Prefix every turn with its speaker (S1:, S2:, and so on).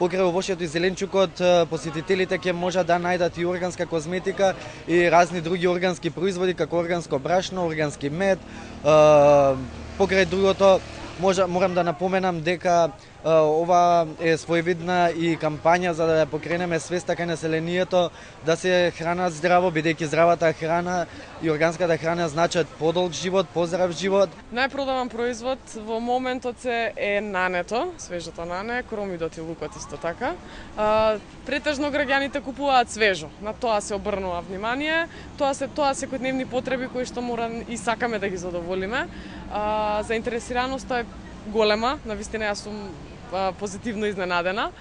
S1: Покрај овошјето и зеленчукот, посетителите ќе можат да најдат и органска козметика и разни други органски производи, како органско брашно, органски мед. Покрај другото, морам да напоменам дека ова е своевидна и кампања за да ја покренеме свеста кај населението да се хранат здраво, бидејќи здравата храна и органската храна значат подолг живот, поздрав живот.
S2: Најпродаван производ во моментот е нането, свежото нане, кромидот и лукот исто така. Претежно граѓаните купуваат свежо, на тоа се обрнува внимание, тоа се секојдневни потреби кои што мора и сакаме да ги задоволиме. Заинтересираноста е голема, навистина јас сум позитивно изненадена.